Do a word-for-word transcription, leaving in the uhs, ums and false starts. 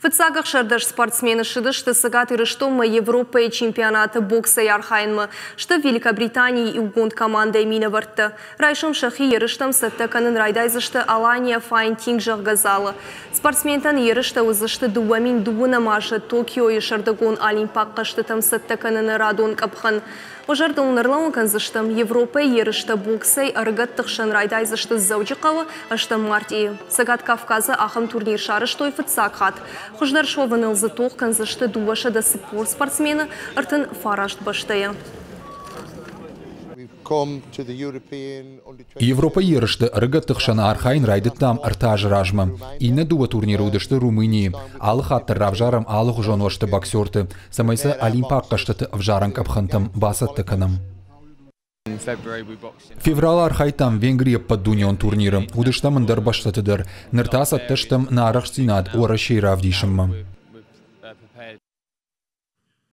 Фыццаг ӕхсӕрдӕс спортсмены ссыдысты Цӕгат Ирыстонмӕ Европӕйы чемпионаты боксӕй архайынмӕ. Сты Великобританийы иугонд командӕйы минӕвӕрттӕ. Райсом сӕхи ерыстӕм цӕттӕ кӕнын райдайдзысты Алания Файтинг, зӕгъгӕ, залы. Спортсментӕн ерыстӕ уыдзысты дыууӕ мин дыууынӕм азы Токиойы сӕрдыгон олимпаг хъӕзтытӕм цӕттӕ кӕныны радон къӕпхӕн. Уӕ зӕрдыл уын ӕрлӕууын кӕндзыстӕм, Европӕйы ерыстӕ боксӕй ӕрыгӕтты хсӕн райдайдзысты Дзӕуджыхъӕуы ӕстӕм мартъийы. Цӕгат Кавказы ахӕм турнир сарӕзтой фыццаг хатт. Хуыздӕр суӕвыныл дзы тох кӕндзысты дыууӕсӕдӕ цыппор спортсмены ӕртын фараст бӕстӕйӕ. Европӕйы ерысты ӕрыгӕтты хсӕн архайын райдыдтам ӕртӕ азы размӕ. Иннӕ дыууӕ турниры уыдысты Румынийы. Алы хатт дӕр равзарӕм алыгъуызон уӕзты боксерты, цӕмӕй сӕ олимпаг хъӕзтыты ӕвзарӕн къӕпхӕнтӕм бацӕттӕ кӕнӕм. Февралы архайдтам Венгрийы ӕппӕтдунеон турниры, уыдыстӕм ӕндӕр бӕстӕты дӕр. Ныр та цӕттӕ стӕм нӕ арӕхстдзинад Уӕрӕсейы равдисынмӕ.